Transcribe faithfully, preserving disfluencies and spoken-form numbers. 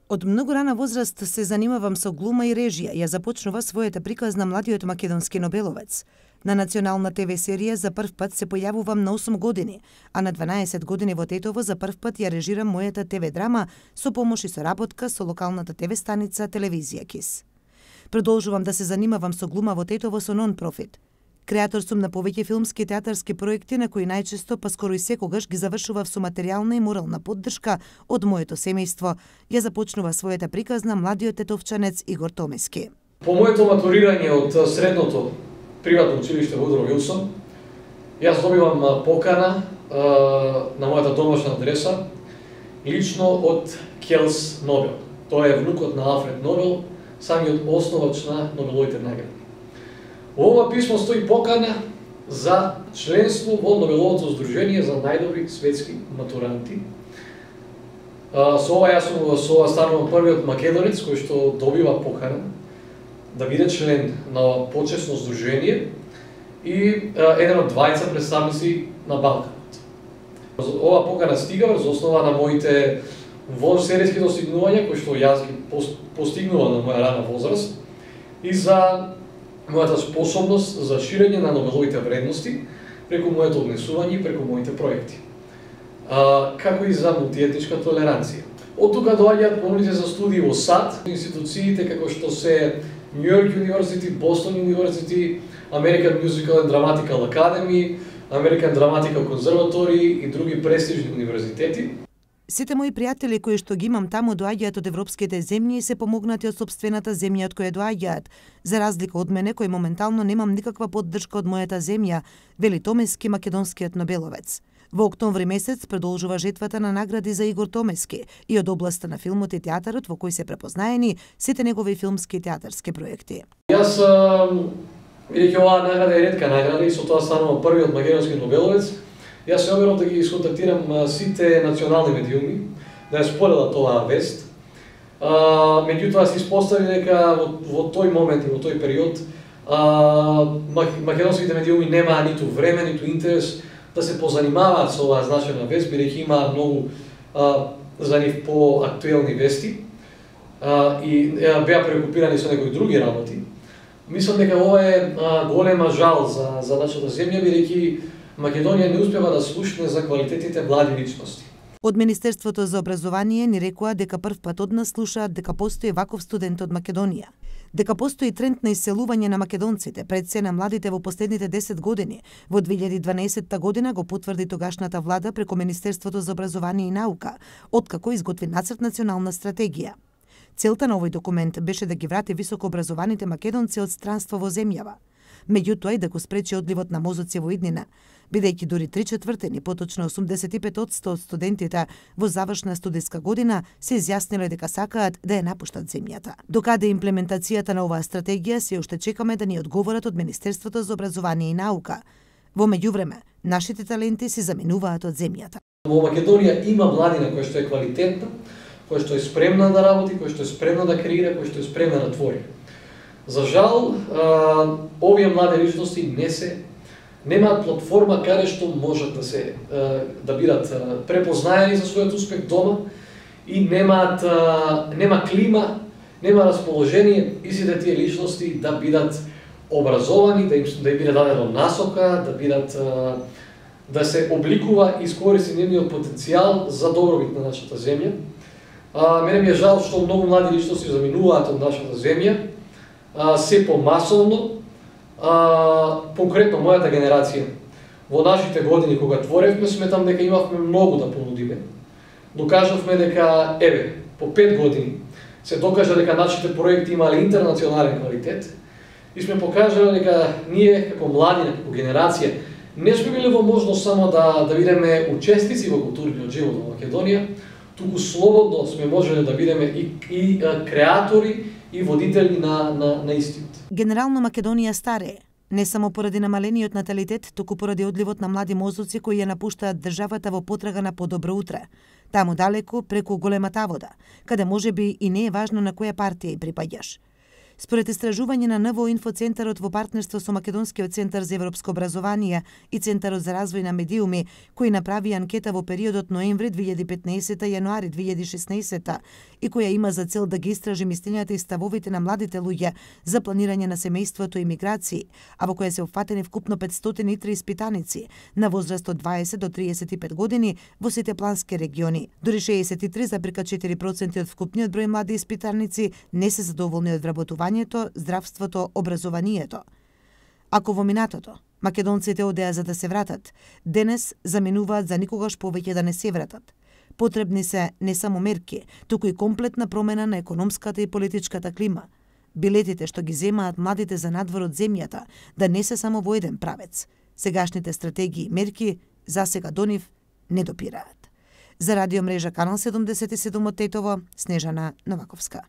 Од многу рана возраст се занимавам со глума и режија, ја започнува својата приказна младиот македонски нобеловец. На национална ТВ серија за прв пат се појавувам на осум години, а на дванаесет години во Тетово за прв пат ја режирам мојата ТВ драма со помош и соработка со локалната ТВ станица Телевизија КИС. Продолжувам да се занимавам со глума во Тетово со нон-профит. Креатор сум на повеќе филмски и театарски проекти на кои најчесто, па скоро и секогаш ги завршував со материјална и морална поддршка од моето семејство. Ја започнува својата приказна младиот тетовчанец Игор Томески. По моето матурирање од средното приватно училиште Вудро Вилсон, јас добивам покана а, на мојата домашна адреса лично од Келс Нобел. Тој е внукот на Алфред Нобел, самиот основач на Нобеловите награди. Во ова писмо стои покана за членство во Нобеловото здружение за најдобри светски матуранти. А, со ова јас сум со ова станувам првиот македонец кој што добива покана да биде член на почесно здружение и а, еден од двајца представници на Балканот. Ова покана стига врз основа на моите вонсеријски достигнувања кои што јас ги постигнува на моја рана возраст и за мојата способност за ширење на Нобеловите вредности преку моето однесување и преку моите проекти, а, како и за мултиетничка толеранција. Од тука доаѓаат понудите за студии во САД, институциите како што се Нью Йорк University, Бостон University, American Musical and Dramatical Academy, American Dramatical Conservatory и други престижни универзитети. Сите мои пријатели кои што ги имам таму доаѓаат од европските земји и се помогнати од сопствената земја од која доаѓаат, за разлика од мене кој моментално немам никаква поддршка од мојата земја, вели Томески, македонскиот нобеловец. Во октомври месец продолжува жетвата на награди за Игор Томески и од областа на филмот и театарот во кој се препознаени сите негови филмски и театарски проекти. Јас, бидејќи оваа награда е ретка награда и со тоа станува првиот македонски нобеловец, јас се обирав да ги исконтактирам сите национални медиуми, да ја споделат оваа вест. А, меѓутоа се испостави дека во, во тој момент и во тој период а, македонските медиуми немаа ниту време, ниту интерес да се позанимаваат со оваа значајна вест, бидејќи имаат многу а, за нив по-актуелни вести а, и а, беа преокупирани со некои други работи. Мислам дека ова е а, голема жал за, за нашата земја, бидејќи Македонија не успева да слушне за квалитетите млади личности. Од Министерството за образование ни рекоа дека прв пат од нас слушаат дека постои ваков студент од Македонија. Дека постои тренд на иселување на македонците, пред се на младите во последните десет години. Во две илјади и дванаесетта година го потврди тогашната влада преку Министерството за образование и наука, откако изготви нацрт национална стратегија. Целта на овој документ беше да ги врати високо образованите македонци од странство во земјава, меѓутоа и да го спречи одливот на мозоци во иднина, бидејќи дури три четвртини, поточно осумдесет и пет одсто од студентите во завршна студиска година се изјасниле дека сакаат да ја напуштат земјата. Докаде имплементацијата на оваа стратегија се уште чекаме да ни одговорат од Министерството за образование и наука. Во меѓувреме, нашите таленти се заминуваат од земјата. Во Македонија има младина која што е квалитетна, која што е спремна да работи, која што е спремна да креира, која што е спремна да твори. За жал, овие млади личности не се немаат платформа каде што можат да се да бидат препознаени за својот успех дома и немаат нема клима, нема расположение истите тие личности да бидат образовани, да им да им биде дадено насока, да бидат да се обликува и искористи нивниот потенцијал за добробит на нашата земја. А, мене ми е жал што многу млади личности заминуваат од нашата земја, а, се помасовно. А, конкретно мојата генерација, во нашите години кога творевме, сметам дека имавме многу да понудиме. Докажавме дека, еве, по пет години се докажа дека нашите проекти имале интернационален квалитет и сме покажале дека ние како младина, како генерација, не сме били во можност само да, да бидеме учесници во културниот живот во Македонија, туку слободно сме можеле да бидеме и, и а, креатори и водители на, на, на истиот. Генерално Македонија старее, не само поради намалениот наталитет, туку поради одливот на млади мозоци кои ја напуштаат државата во потрага на подобро утре. Таму далеку, преку големата вода, каде може би и не е важно на која партија и припаѓаш. Според истражување на НВО Инфоцентарот во партнерство со Македонскиот центар за европско образование и Центарот за развој на медиуми, кои направи анкета во периодот ноември две илјади и петнаесета – јануари две илјади и шеснаесета и која има за цел да ги истражи мислењата и ставовите на младите луѓе за планирање на семејството и миграции, а во која се опфатени вкупно петстотини и три испитаници на возраст од дваесет до триесет и пет години во сите плански региони. Дури шеесет и три зарез четири проценти од вкупниот број млади испитаници не се задоволни од вработувањето, здравството, образованието. Ако во минатото македонците одеа за да се вратат, денес заминуваат за никогаш повеќе да не се вратат. Потребни се не само мерки, туку и комплетна промена на економската и политичката клима. Билетите што ги земаат младите за надвор од земјата да не се само во еден правец. Сегашните стратегии и мерки засега до нив не допираат. За радио мрежа Канал седумдесет и седум од Тетово, Снежана Новаковска.